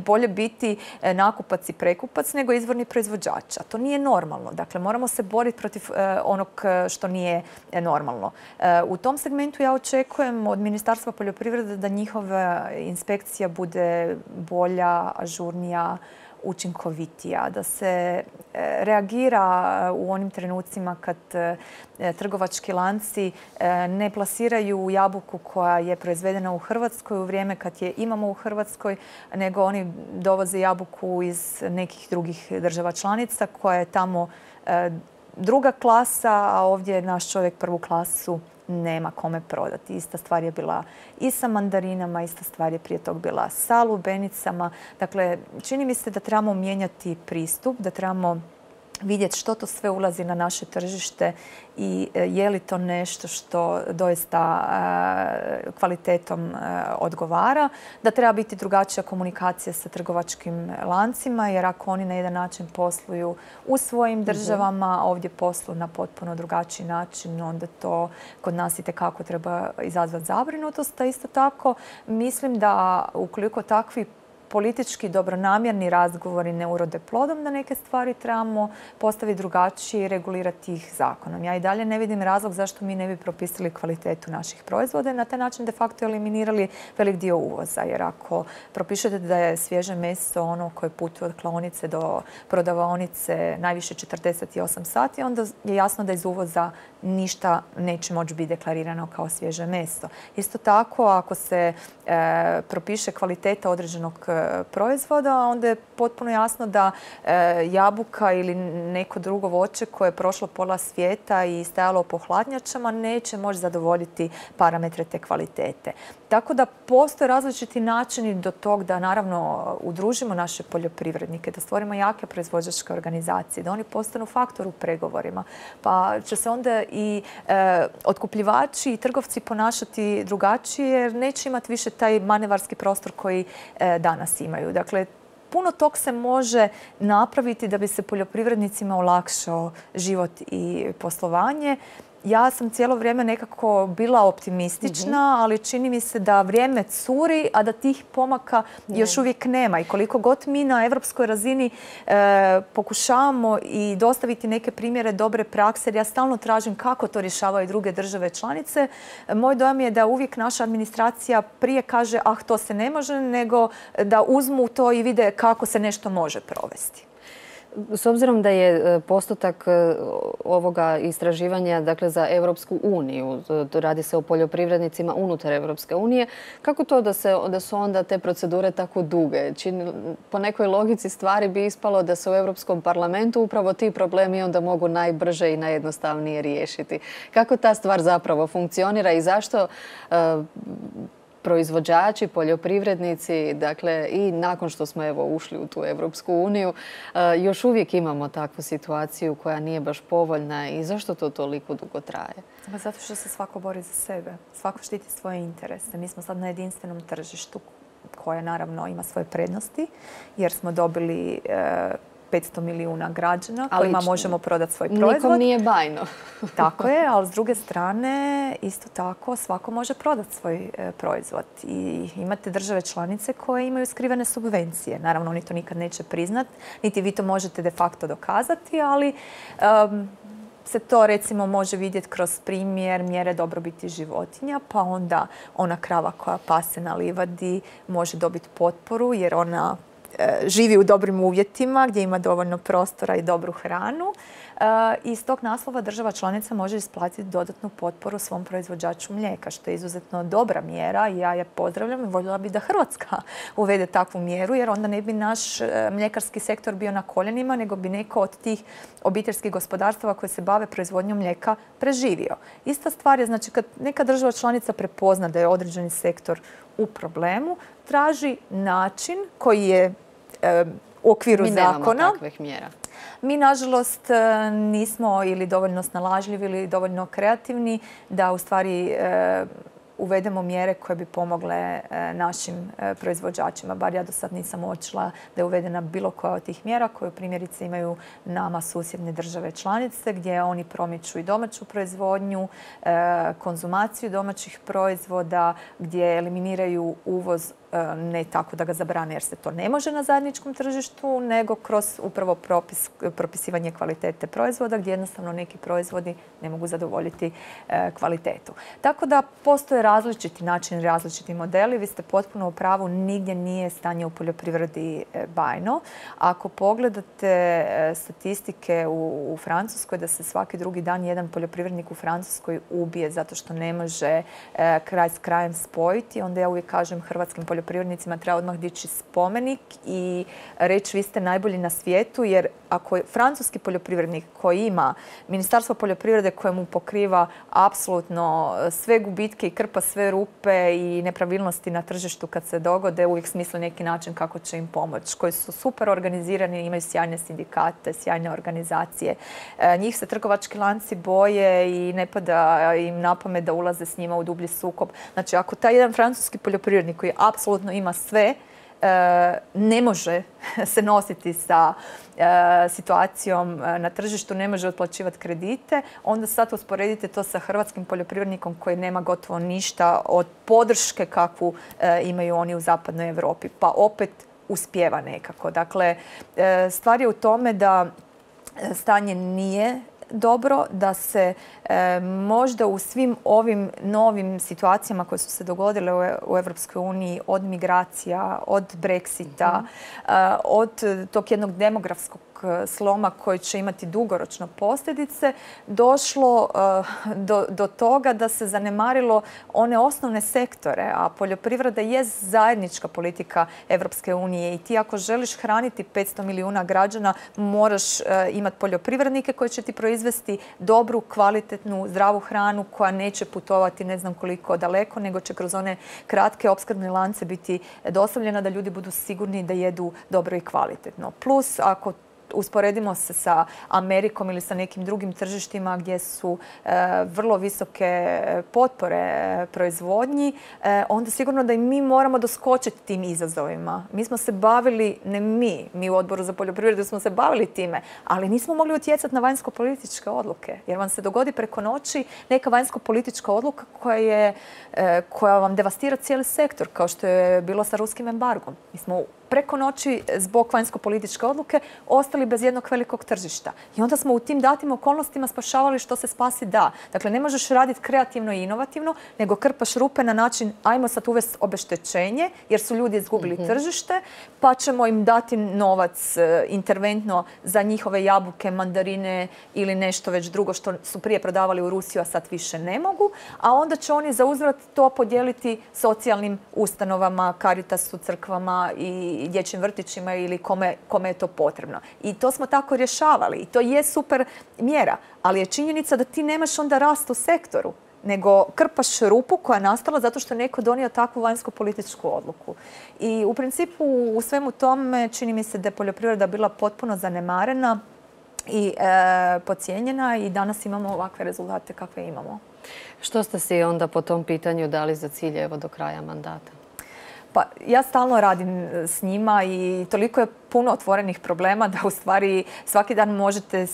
B: bolje biti nakupac i prekupac nego izvorni proizvođač. A to nije normalno. Dakle, moramo se boriti protiv onog što nije normalno. U tom segmentu ja očekujem od Ministarstva poljoprivrede da njihova inspekcija bude bolja, ažurnija, učinkovitija, da se reagira u onim trenucima kad trgovački lanci ne plasiraju jabuku koja je proizvedena u Hrvatskoj u vrijeme kad je imamo u Hrvatskoj, nego oni dovoze jabuku iz nekih drugih država članica koja je tamo druga klasa, a ovdje naš čovjek prvu klasu nema kome prodati. Ista stvar je bila i sa mandarinama, ista stvar je prije tog bila sa lubenicama. Dakle, čini mi se da trebamo mijenjati pristup, da trebamo vidjeti što to sve ulazi na naše tržište i je li to nešto što doista kvalitetom odgovara, da treba biti drugačija komunikacija sa trgovačkim lancima, jer ako oni na jedan način posluju u svojim državama, ovdje posluju na potpuno drugačiji način, onda to kod nas itekako treba izazvati zabrinutost. A isto tako mislim da ukoliko takvi politički dobronamjerni razgovori ne urode plodom, da neke stvari trebamo postaviti drugačije i regulirati ih zakonom. Ja i dalje ne vidim razlog zašto mi ne bi propisali kvalitetu naših proizvoda i na taj način de facto eliminirali velik dio uvoza. Jer ako propišete da je svježe meso ono koje putuje od klaonice do prodavaonice najviše 48 sati, onda je jasno da iz uvoza ništa neće moći biti deklarirano kao svježe meso. Isto tako, ako se propiše kvaliteta određenog proizvoda, onda je potpuno jasno da jabuka ili neko drugo voće koje je prošlo pola svijeta i stajalo po hladnjačama neće moći zadovoljiti parametre te kvalitete. Tako da postoje različiti načini do tog da naravno udružimo naše poljoprivrednike, da stvorimo jake proizvođačke organizacije, da oni postanu faktor u pregovorima. Pa će se onda i otkupljivači i trgovci ponašati drugačije jer neće imati više taj manevarski prostor koji danas imaju. Dakle, puno tog se može napraviti da bi se poljoprivrednicima olakšao život i poslovanje. Ja sam cijelo vrijeme nekako bila optimistična, ali čini mi se da vrijeme curi, a da tih pomaka još uvijek nema. I koliko god mi na europskoj razini pokušavamo i dostaviti neke primjere dobre prakse, jer ja stalno tražim kako to rješavaju druge države članice, moj dojam je da uvijek naša administracija prije kaže ah, to se ne može, nego da uzmu to i vide kako se nešto može provesti.
A: S obzirom da je postotak ovoga istraživanja dakle, za Europsku uniju, radi se o poljoprivrednicima unutar Europske unije, kako to da su onda te procedure tako duge? Po nekoj logici stvari bi ispalo da se u Europskom parlamentu upravo ti problemi onda mogu najbrže i najjednostavnije riješiti. Kako ta stvar zapravo funkcionira i zašto proizvođači, poljoprivrednici, dakle i nakon što smo evo ušli u tu Evropsku uniju, još uvijek imamo takvu situaciju koja nije baš povoljna i zašto to toliko dugo traje?
B: Zato što se svako bori za sebe, svako štiti svoje interese. Mi smo sad na jedinstvenom tržištu koje naravno ima svoje prednosti jer smo dobili 500 milijuna građana kojima možemo prodati svoj proizvod.
A: Nikom nije bajno.
B: Tako je, ali s druge strane isto tako svako može prodati svoj proizvod. I imate države članice koje imaju skrivene subvencije. Naravno, oni to nikad neće priznati, niti vi to možete de facto dokazati, ali se to recimo može vidjeti kroz primjer mjere dobrobiti životinja, pa onda ona krava koja pase na livadi može dobiti potporu jer ona živi u dobrim uvjetima gdje ima dovoljno prostora i dobru hranu. I iz tog naslova država članica može isplatiti dodatnu potporu svom proizvođaču mlijeka, što je izuzetno dobra mjera i ja je pozdravljam i voljela bi da Hrvatska uvede takvu mjeru jer onda ne bi naš mljekarski sektor bio na koljenima, nego bi neko od tih obiteljskih gospodarstava koje se bave proizvodnjom mlijeka preživio. Ista stvar je, znači, kad neka država članica prepozna da je određeni sektor u problemu, traži način koji je u okviru zakona.
A: Mi nemamo takvih mjera.
B: Mi, nažalost, nismo ili dovoljno snalažljivi ili dovoljno kreativni da u stvari uvedemo mjere koje bi pomogle našim proizvođačima. Bar ja do sad nisam uočila da je uvedena bilo koja od tih mjera koju primjerice imaju nama susjedne države članice gdje oni promiču i domaću proizvodnju, konzumaciju domaćih proizvoda, gdje eliminiraju uvoz ne tako da ga zabrane jer se to ne može na zajedničkom tržištu, nego kroz upravo propisivanje kvalitete proizvoda gdje jednostavno neki proizvodi ne mogu zadovoljiti kvalitetu. Tako da postoje različiti načini, različiti modeli. Vi ste potpuno u pravu, nigdje nije stanje u poljoprivredi bajno. Ako pogledate statistike u Francuskoj da se svaki drugi dan jedan poljoprivrednik u Francuskoj ubije zato što ne može kraj s krajem spojiti, onda ja uvijek kažem hrvatskim poljoprivrednicima treba odmah dići spomenik i reći vi ste najbolji na svijetu, jer ako je francuski poljoprivrednik koji ima Ministarstvo poljoprivrede koje mu pokriva apsolutno sve gubitke i krpa sve rupe i nepravilnosti na tržištu kad se dogode, uvijek smisle neki način kako će im pomoći, koji su super organizirani, imaju sjajne sindikate, sjajne organizacije. Njih se trgovački lanci boje i ne pada im na pamet da ulaze s njima u dublji sukob. Znači, ako taj jedan francuski poljoprivrednik koji apsolutno ima sve, ne može se nositi sa situacijom na tržištu, ne može otplaćivati kredite, onda sad usporedite to sa hrvatskim poljoprivrednikom koji nema gotovo ništa od podrške kakvu imaju oni u zapadnoj Europi. Pa opet uspijeva nekako. Dakle, stvar je u tome da stanje nije dobro, da se možda u svim ovim novim situacijama koje su se dogodile u Evropskoj uniji, od migracija, od Brexita, od tog jednog demografskog sloma koji će imati dugoročno posljedice, došlo do toga da se zanemarilo one osnovne sektore, a poljoprivreda je zajednička politika Evropske unije i ti ako želiš hraniti 500 milijuna građana, moraš imati poljoprivrednike koji će ti proizvesti dobru, kvalitetnu, zdravu hranu koja neće putovati ne znam koliko daleko, nego će kroz one kratke opskrbne lance biti dostavljena da ljudi budu sigurni da jedu dobro i kvalitetno. Plus, ako usporedimo se sa Amerikom ili sa nekim drugim tržištima gdje su vrlo visoke potpore proizvodnji, onda sigurno da i mi moramo doskočiti tim izazovima. Mi smo se bavili, ne mi u Odboru za poljoprivredu smo se bavili time, ali nismo mogli utjecati na vanjsko-političke odluke. Jer vam se dogodi preko noći neka vanjsko-politička odluka koja vam devastira cijeli sektor, kao što je bilo sa ruskim embargom. Mi smo preko noći zbog vanjsko-političke odluke ostali bez jednog velikog tržišta. I onda smo u tim datim okolnostima spašavali što se spasi da. Dakle, ne možeš raditi kreativno i inovativno, nego krpaš rupe na način ajmo sad uvesti obeštećenje jer su ljudi izgubili tržište, pa ćemo im dati novac interventno za njihove jabuke, mandarine ili nešto već drugo što su prije prodavali u Rusiju, a sad više ne mogu. A onda će oni za uzvrat to podijeliti socijalnim ustanovama, Caritasu, crkvama i dječjim vrtićima ili kome je to potrebno. I to smo tako rješavali i to je super mjera, ali je činjenica da ti nemaš onda rast u sektoru. nego krpaš rupu koja je nastala zato što je neko donio takvu vanjsko-političku odluku. I u principu u svemu tome čini mi se da je poljoprivreda bila potpuno zanemarena i podcijenjena i danas imamo ovakve rezultate kakve imamo.
A: Što ste si onda po tom pitanju dali za cilj evo do kraja mandata?
B: Pa ja stalno radim s njima i toliko je puno otvorenih problema da u stvari svaki dan možete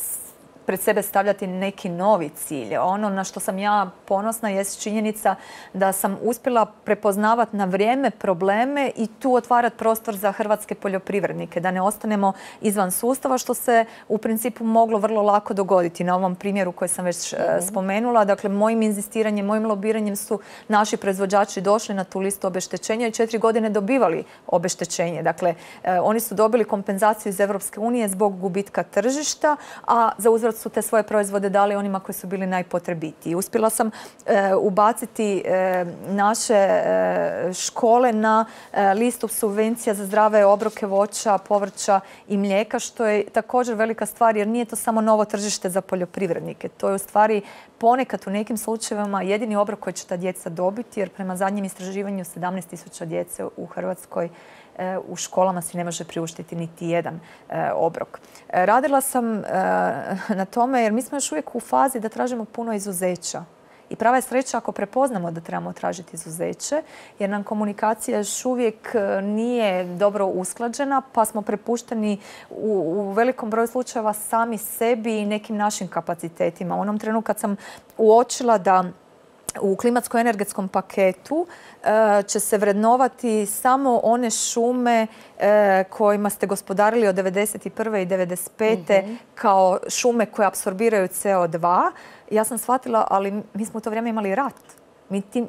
B: pred sebe stavljati neki novi cilj. Ono na što sam ja ponosna jest činjenica da sam uspjela prepoznavati na vrijeme probleme i tu otvarati prostor za hrvatske poljoprivrednike, da ne ostanemo izvan sustava, što se u principu moglo vrlo lako dogoditi. Na ovom primjeru koji sam već spomenula, dakle mojim inzistiranjem, mojim lobiranjem su naši proizvođači došli na tu listu obeštećenja i 4 godine dobivali obeštećenje. Dakle, oni su dobili kompenzaciju iz Europske unije zbog gubitka tržišta, a za uzvrat su te svoje proizvode dali onima koji su bili najpotrebitiji. Uspjela sam ubaciti naše škole na listu subvencija za zdrave obroke voća, povrća i mlijeka, što je također velika stvar jer nije to samo novo tržište za poljoprivrednike. To je u stvari ponekad u nekim slučajevima jedini obrok koji će ta djeca dobiti jer prema zadnjem istraživanju 17.000 djece u Hrvatskoj u školama si ne može priuštiti niti jedan obrok. Radila sam na tome jer mi smo još uvijek u fazi da tražimo puno izuzeća. I prava je sreća ako prepoznamo da trebamo tražiti izuzeće, jer nam komunikacija još uvijek nije dobro usklađena, pa smo prepušteni u velikom broju slučajeva sami sebi i nekim našim kapacitetima. U onom trenu kad sam uočila da u klimatsko-energetskom paketu će se vrednovati samo one šume kojima ste gospodarili od 1991. i 1995. kao šume koje apsorbiraju CO2. Ja sam shvatila, ali mi smo u to vrijeme imali rat. Mi tim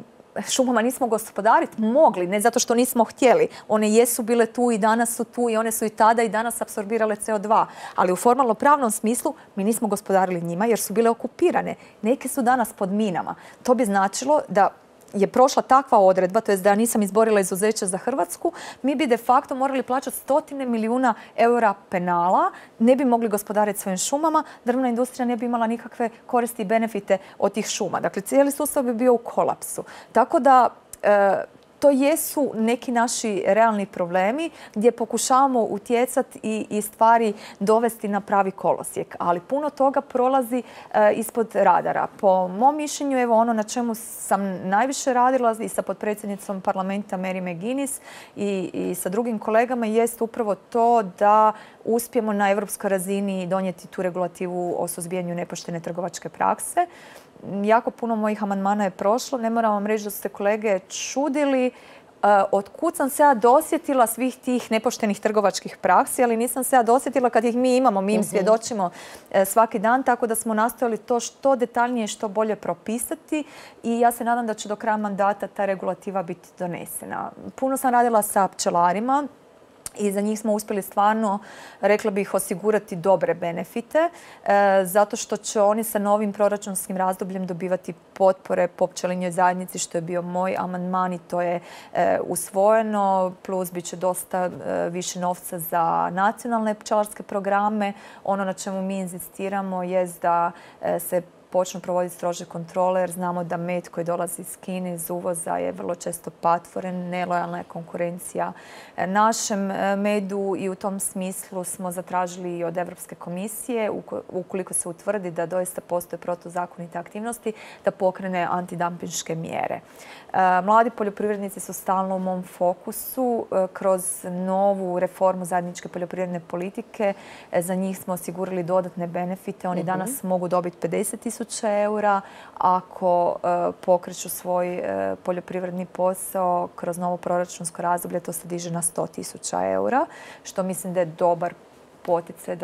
B: šumama nismo gospodariti mogli, ne zato što nismo htjeli. One jesu bile tu i danas su tu i one su i tada i danas apsorbirale CO2. Ali u formalno-pravnom smislu mi nismo gospodarili njima jer su bile okupirane. Neke su danas pod minama. To bi značilo da je prošla takva odredba, to je da nisam izborila izuzeće za Hrvatsku, mi bi de facto morali plaćati 100 milijuna eura penala, ne bi mogli gospodariti svojim šumama, drvna industrija ne bi imala nikakve koristi i benefite od tih šuma. Dakle, cijeli sustav bi bio u kolapsu. Tako da to jesu neki naši realni problemi gdje pokušavamo utjecati i stvari dovesti na pravi kolosijek. Ali puno toga prolazi ispod radara. Po mom mišljenju, evo ono na čemu sam najviše radila i sa potpredsjednicom parlamenta Mary McGuinness i sa drugim kolegama jest upravo to da uspijemo na europskoj razini donijeti tu regulativu o suzbijanju nepoštene trgovačke prakse. Jako puno mojih amandmana je prošlo. Ne moram vam reći da su se kolege čudili od kud sam se ja dosjetila svih tih nepoštenih trgovačkih praksi, ali nisam se ja dosjetila kad ih mi imamo, mi im svjedočimo svaki dan, tako da smo nastojali to što detaljnije i što bolje propisati i ja se nadam da će do kraja mandata ta regulativa biti donesena. Puno sam radila sa pčelarima i za njih smo uspjeli stvarno, rekla bih, osigurati dobre benefite, zato što će oni sa novim proračunskim razdobljem dobivati potpore po pčelinjoj zajednici, što je bio moj amandman i to je usvojeno, plus bit će dosta više novca za nacionalne pčelarske programe. Ono na čemu mi inzistiramo je da se počnu provoditi strože kontrole jer znamo da med koji dolazi iz Kine, iz uvoza je vrlo često patvoren, nelojalna je konkurencija našem medu i u tom smislu smo zatražili i od Europske komisije, ukoliko se utvrdi da doista postoje protuzakonite aktivnosti, da pokrene antidampinške mjere. Mladi poljoprivrednici su stalno u mom fokusu. Kroz novu reformu zajedničke poljoprivredne politike za njih smo osigurali dodatne benefite. Oni danas mogu dobiti 50.000 eura ako pokreću svoj poljoprivredni posao kroz novo proračunsko razdoblje, to se diže na 100.000 eura, što mislim da je dobar poticaj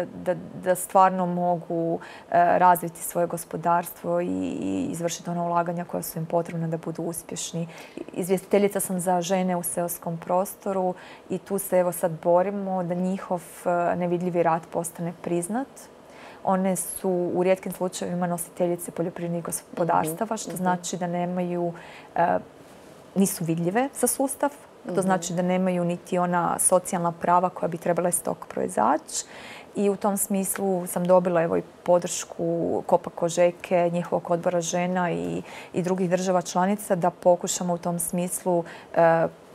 B: da stvarno mogu razviti svoje gospodarstvo i izvršiti ona ulaganja koja su im potrebna da budu uspješni. Izvjestiteljica sam za žene u seoskom prostoru i tu se evo sad borimo da njihov nevidljivi rad postane priznat. One su u rijetkim slučajevima nositeljice poljoprivrednih gospodarstava, što znači da nisu vidljive za sustav. To znači da nemaju niti ona socijalna prava koja bi trebala iz tog proizaći. i u tom smislu sam dobila evo i podršku Kopa Kožeke, njihovog odbora žena i drugih država članica da pokušamo u tom smislu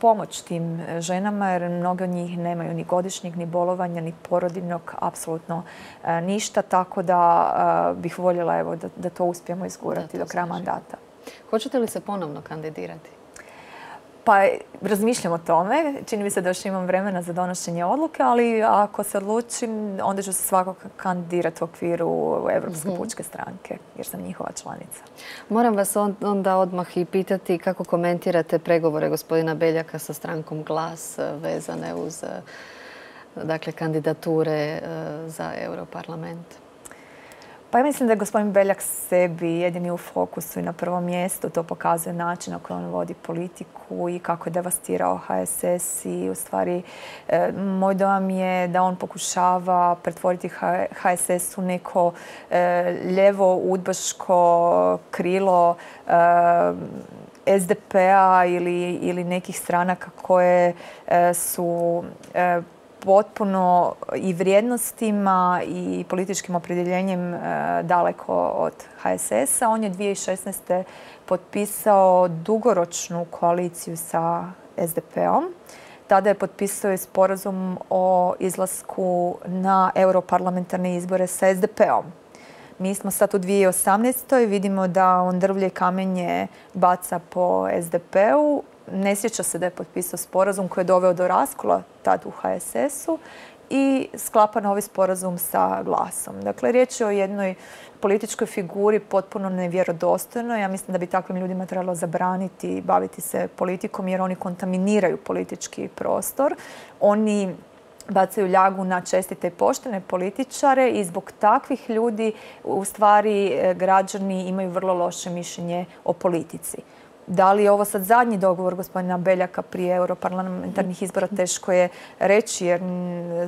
B: pomoć tim ženama jer mnoge od njih nemaju ni godišnjeg, ni bolovanja, ni porodiljnog, apsolutno ništa, tako da bih voljela evo da to uspijemo izgurati do kraja mandata.
A: Hoćete li se ponovno kandidirati?
B: Pa razmišljam o tome. Čini mi se da još imam vremena za donošenje odluke, ali ako se odlučim, onda ću se svakako kandidirati u okviru Europske pučke stranke, jer sam njihova članica.
A: Moram vas onda odmah i pitati kako komentirate pregovore gospodina Beljaka sa strankom GLAS vezane uz kandidature za Europarlament.
B: Pa ja mislim da je gospodin Beljak sebi jedini u fokusu i na prvom mjestu. To pokazuje način na koji on vodi politiku i kako je devastirao HSS i u stvari moj dojam je da on pokušava pretvoriti HSS u neko ljevo udbaško krilo SDP-a ili nekih stranaka koje su potpuno i vrijednostima i političkim opredjeljenjem daleko od HSS-a. On je 2016. potpisao dugoročnu koaliciju sa SDP-om. Tada je potpisao i sporazum o izlasku na europarlamentarne izbore sa SDP-om. Mi smo sad u 2018. vidimo da on drvlje i kamenje baca po SDP-u. Ne sjeća se da je potpisao sporazum koji je doveo do raskola tad u HSS-u i sklapa novi sporazum sa GLAS-om. Dakle, riječ je o jednoj političkoj figuri potpuno nevjerodostojnoj. Ja mislim da bi takvim ljudima trebalo zabraniti baviti se politikom jer oni kontaminiraju politički prostor. Oni bacaju ljagu na čestite i poštene političare i zbog takvih ljudi u stvari građani imaju vrlo loše mišljenje o politici. Da li je ovo sad zadnji dogovor gospodina Beljaka prije europarlamentarnih izbora, teško je reći jer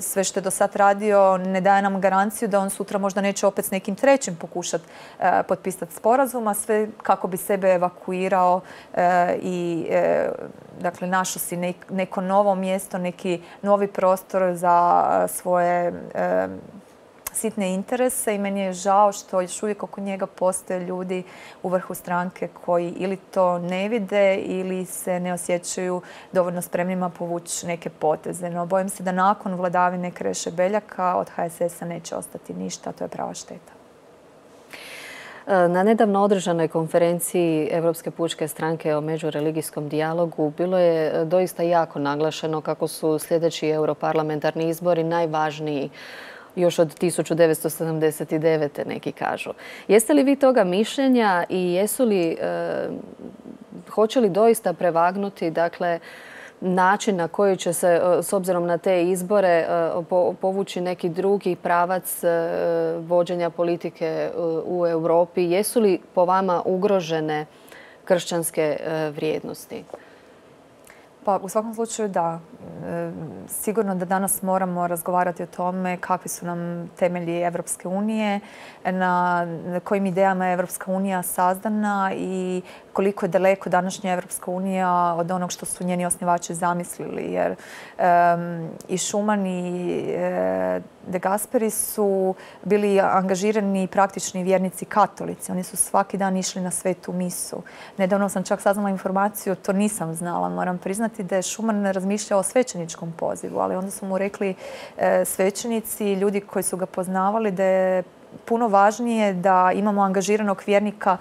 B: sve što je do sad radio ne daje nam garanciju da on sutra možda neće opet s nekim trećim pokušati potpisati sporazum, a sve kako bi sebe evakuirao i dakle našao si neko novo mjesto, neki novi prostor za svoje sitne interese i meni je žao što još uvijek oko njega postoje ljudi u vrhu stranke koji ili to ne vide ili se ne osjećaju dovoljno spremnima povući neke poteze. No bojim se da nakon vladavine Kreše Beljaka od HSS-a neće ostati ništa, a to je prava šteta.
A: Na nedavno održanoj konferenciji Europske pučke stranke o međureligijskom dijalogu bilo je doista jako naglašeno kako su sljedeći europarlamentarni izbori najvažniji još od 1979. neki kažu. Jeste li vi toga mišljenja i hoće li doista prevagnuti način na koji će se, s obzirom na te izbore, povući neki drugi pravac vođenja politike u Europi? Jesu li po vama ugrožene kršćanske vrijednosti?
B: Pa u svakom slučaju da. Sigurno da danas moramo razgovarati o tome kakvi su nam temelji Evropske unije, na kojim idejama je Evropska unija sazdana i koliko je daleko današnja Evropska unija od onog što su njeni osnivači zamislili. Jer i Schuman i De Gasperi su bili angažirani praktični vjernici katolici. Oni su svaki dan išli na svetu misu. Nedavno sam čak saznala informaciju, to nisam znala, moram priznati da je Schuman razmišljao o svećeničkom pozivu, ali onda su mu rekli svećenici, ljudi koji su ga poznavali, da je puno važnije da imamo angažiranog vjernika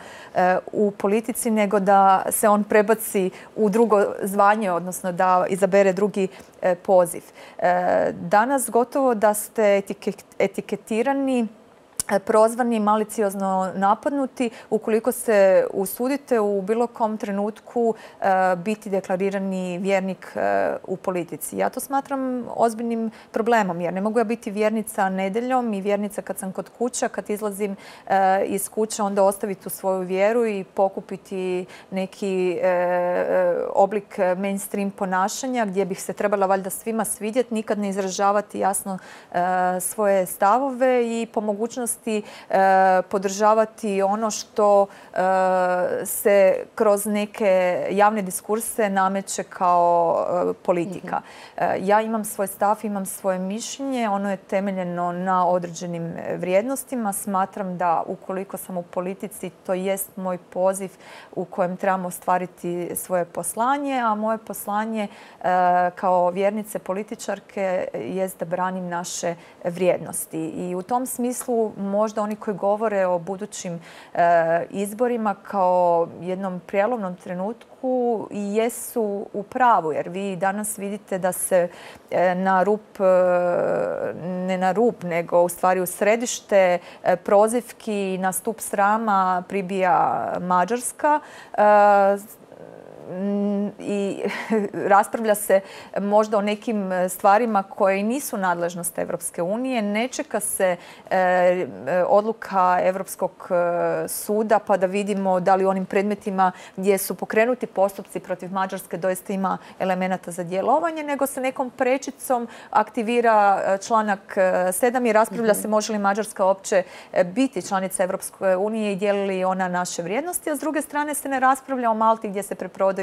B: u politici nego da se on prebaci u drugo zvanje, odnosno da izabere drugi poziv. Danas gotovo da ste etiketirani, prozvani, maliciozno napadnuti ukoliko se usudite u bilo kom trenutku biti deklarirani vjernik u politici. Ja to smatram ozbiljnim problemom jer ne mogu ja biti vjernica nedjeljom i vjernica kad sam kod kuća, kad izlazim iz kuće onda ostaviti tu svoju vjeru i pokupiti neki oblik mainstream ponašanja gdje bih se trebala valjda svima svidjeti, nikad ne izražavati jasno svoje stavove i po mogućnosti vrijednosti, podržavati ono što se kroz neke javne diskurse nameće kao politika. Ja imam svoj stav, imam svoje mišljenje, ono je temeljeno na određenim vrijednostima. Smatram da ukoliko sam u politici, to jest moj poziv u kojem trebamo ostvariti svoje poslanje, a moje poslanje kao vjernice političarke jest da branim naše vrijednosti. I u tom smislu možda oni koji govore o budućim izborima kao jednom prijelomnom trenutku i jesu u pravu, jer vi danas vidite da se na rub, ne na rub, nego u stvari u središte prozivki na stup srama pribija Mađarska i raspravlja se možda o nekim stvarima koje nisu nadležnost Europske unije. Ne čeka se odluka Europskog suda pa da vidimo da li u onim predmetima gdje su pokrenuti postupci protiv Mađarske doista ima elemenata za djelovanje, nego se nekom prečicom aktivira članak 7 i raspravlja se može li Mađarska uopće biti članica Europske unije i dijeli li ona naše vrijednosti, a s druge strane se ne raspravlja o Malti gdje se preprodaju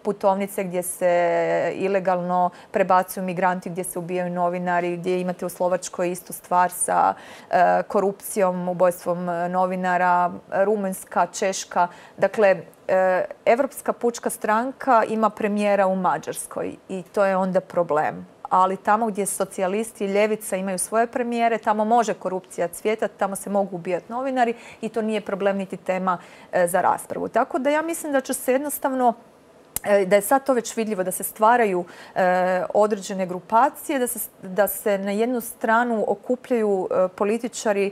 B: putovnice, gdje se ilegalno prebacuju migranti, gdje se ubijaju novinari, gdje imate u Slovačkoj istu stvar sa korupcijom, ubojstvom novinara, Rumunjska, Češka. Dakle, Europska pučka stranka ima premijera u Mađarskoj i to je onda problem. Ali tamo gdje socijalisti i ljevica imaju svoje premijere, tamo može korupcija cvjetati, tamo se mogu ubijati novinari i to nije problem niti tema za raspravu. Tako da ja mislim da će se jednostavno, da je sad to već vidljivo, da se stvaraju određene grupacije, da se na jednu stranu okupljaju političari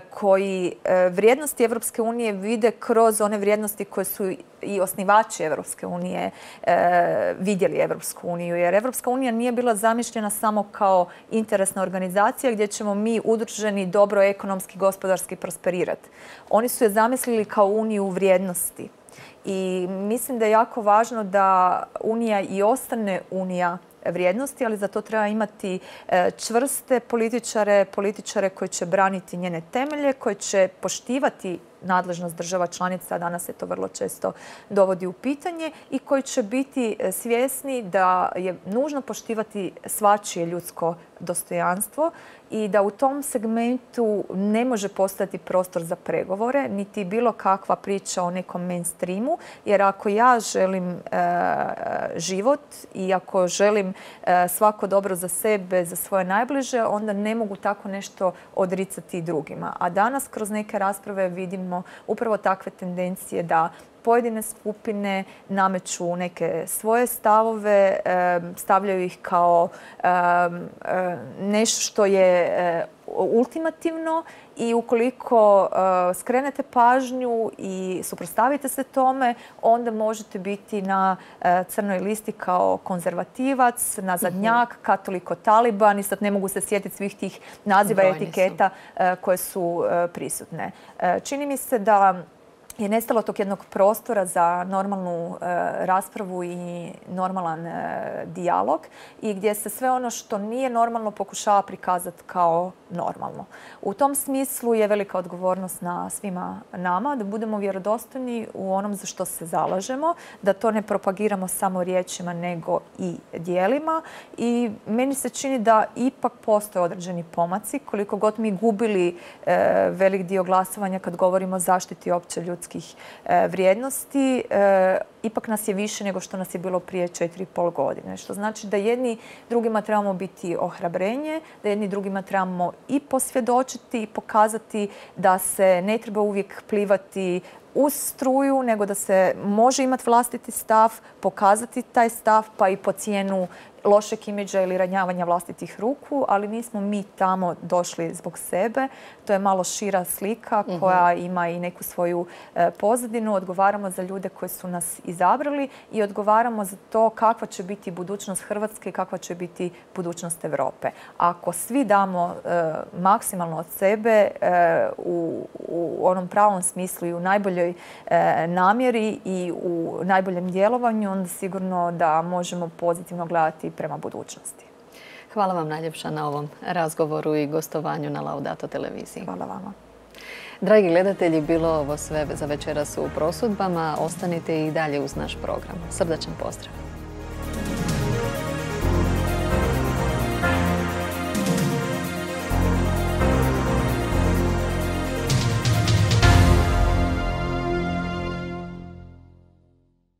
B: koji vrijednosti Europske unije vide kroz one vrijednosti koje su i osnivači Europske unije vidjeli Europsku uniju. Jer Europska unija nije bila zamišljena samo kao interesna organizacija gdje ćemo mi udruženi dobro ekonomski, gospodarski prosperirati. Oni su je zamislili kao uniju vrijednosti. I mislim da je jako važno da Unija i ostane Unija vrijednosti, ali za to treba imati čvrste političare koji će braniti njene temelje, koji će poštivati nadležnost država članica, a danas se to vrlo često dovodi u pitanje, i koji će biti svjesni da je nužno poštivati svačije ljudsko dostojanstvo i da u tom segmentu ne može postojati prostor za pregovore, niti bilo kakva priča o nekom mainstreamu, jer ako ja želim život i ako želim svako dobro za sebe, za svoje najbliže, onda ne mogu tako nešto odricati drugima. A danas kroz neke rasprave vidimo upravo takve tendencije da pojedine skupine nameću neke svoje stavove, stavljaju ih kao nešto što je ultimativno i ukoliko skrenete pažnju i suprotstavite se tome, onda možete biti na crnoj listi kao konzervativac, nazadnjak, katoliko-taliban i sad ne mogu se sjetiti svih tih naziva i etiketa koje su prisutne. Čini mi se da je nestalo tog jednog prostora za normalnu raspravu i normalan dijalog i gdje se sve ono što nije normalno pokušava prikazati kao normalno. U tom smislu je velika odgovornost na svima nama da budemo vjerodostojni u onom za što se zalažemo, da to ne propagiramo samo riječima nego i djelima i meni se čini da ipak postoje određeni pomaci koliko god mi gubili velik dio glasovanja kad govorimo o zaštiti opće ljudskih vrijednosti, ipak nas je više nego što nas je bilo prije 4,5 godine. Što znači da jedni drugima trebamo biti ohrabrenje, da jedni drugima trebamo i posvjedočiti i pokazati da se ne treba uvijek plivati uz struju, nego da se može imati vlastiti stav, pokazati taj stav pa i po cijenu lošeg imidža ili ranjavanja vlastitih ruku, ali nismo mi tamo došli zbog sebe. To je malo šira slika koja ima i neku svoju pozadinu. Odgovaramo za ljude koji su nas izabrali i odgovaramo za to kakva će biti budućnost Hrvatske i kakva će biti budućnost Europe. Ako svi damo maksimalno od sebe u onom pravom smislu i u najboljoj namjeri i u najboljem djelovanju, onda sigurno da možemo pozitivno gledati prema budućnosti.
A: Hvala vam najljepša na ovom razgovoru i gostovanju na Laudato televiziji.
B: Hvala vama.
A: Dragi gledatelji, bilo ovo sve za večeras u prosudbama. Ostanite i dalje uz naš program. Srdačan pozdrav!